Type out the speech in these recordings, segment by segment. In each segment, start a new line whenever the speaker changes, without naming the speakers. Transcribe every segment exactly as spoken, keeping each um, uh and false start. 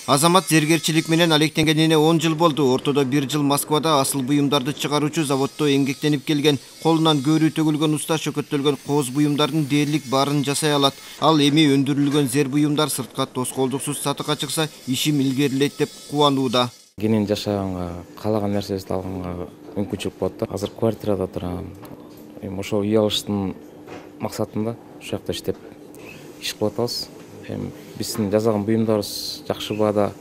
Азамат зергерчилик менен алектенгенине он жыл болду. Ортодо бир жыл Москвада асыл буюмдарды чыгаруучу заводдо эмгектенип келген. Колунан көөрү төгүлгөн уста чөкөттөлгөн кооз буюмдардын дээрлик баарын жасай алат. Ал эми өндүрүлгөн зер буюмдар сыртка тоскоолдуксуз сатыкка чыкса, ишим илгерилейт деп кубанууда.
Кенен жашаганга, каалаган нерсебизди алганга мүмкүнчүлүк болот да. Азыр квартирада турам. Эми ошол үй алыштын максатында ушул жакта иштеп иш кылып атабыз. Эми биздин жасаган буюмдарыбыз жакшы баада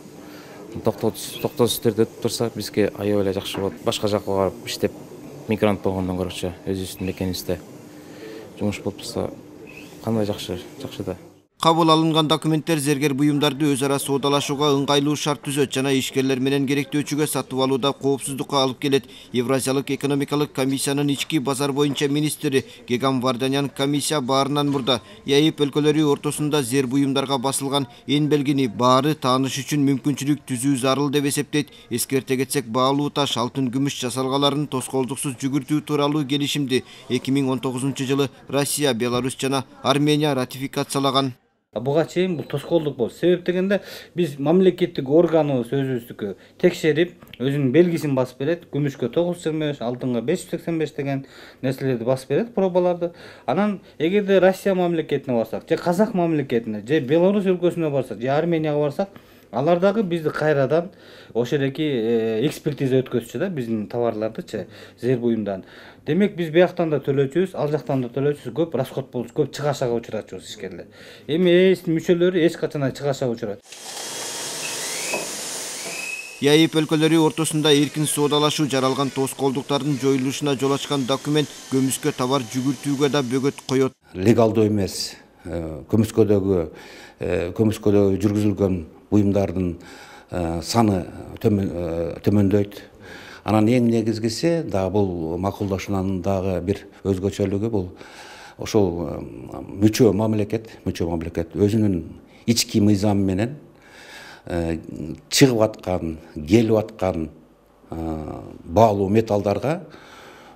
токтосуз түрдө өтүп турса, бизге аябай эле жакшы болот. Башка жакка барып иштеп мигрант болгондон көрөчү өзүбүздүн мекенибизде жумуш болуп турса, кандай жакшы, жакшы да.
Кабыл алынган документтер зергер буюмдарды өз ара соодалашууга ыңгайлуу шарт түзөт жана ишкерлер менен керектөөчүгө сатып алууда коопсуздукка алып келет. Евразиялык экономикалык комиссиянын ички базар боюнча министри Гегам Варданян комиссия баарынан мурда ЯИП өлкөлөрү ортосунда зер буюмдарга басылган эн белгини баары тааныш үчүн мүмкүнчүлүк түзүү зарыл деп эсептейт. Эскерте кетсек, баалуу таш, алтын, күмүш жасалгаларын тоскоолдуксуз жүгүртүү тууралуу келишимди эки миң он тогузунчу жылы Россия, Беларусь жана Армения ратификациялаган.
Буга чейин бул тоскоолдук болду. Себеп дегенде биз мамлекеттик органыбыз өзүбүздүкү текшерип, өзүнүн белгисин басып берет. Күмүшкө тогуз жүз жыйырма беш, алтынга беш жүз сексен беш деген нерселерди басып берет, пробаларды. Анан эгерде Россия мамлекетине барсак, же Казак мамлекетине, же Беларусь өлкөсүнө барсак, же Арменияга барсак, алар дагы бизди кайрадан ошол эки экспертиза өткөзчү да биздин товарлардычы, зер буюмдан. Демек биз бияктан да төлөөчүбүз, ал жактан да төлөөчүбүз, көп расход болуп, көп чыгашага учурачубыз ишкерлер. Эми ээсинин мүчөлөрү эч качан чыгашага учурат.
ЯИП өлкөлөрү ортосунда эркин соодалашуу жаралган тоскоолдуктардын жоюлушуна жол ачкан документ көмүскө товар жүгүртүүгө да бөгөт коет.
Легалдуу эмес көмүскөдөгү көмүскөдөгү жүргүзүлгөн буюмдардын саны төмөндөйт. Анан эң негизгиси да бул макулдашуунун дагы бир өзгөчөлүгү бул ошол мүчө мамлекет, мүчө мамлекет өзүнүн ички мыйзамы менен чыгып аткан, келип аткан баалуу металлдарга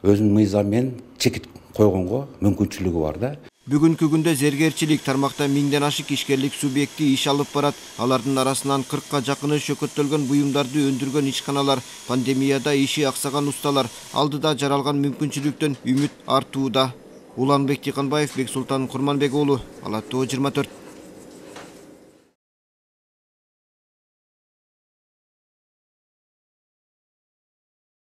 өзүнүн мыйзамы менен чекит койгонго мүмкүнчүлүгү бар да.
Бүгүнкү күндө зергерчилик тармакта миңден ашык ишкерлик субъекти иш алып барат. Алардын арасынан кыркка жакыны чөкөттөлгөн буюмдарды өндүргөн ишканалар, пандемияда иши аксаган усталар. Алдыда жаралган мүмкүнчүлүктөн үмүт артууда. Уланбек Тиканбаев, Бексултан Курманбек уулу, Ала Тоо жыйырма төрт.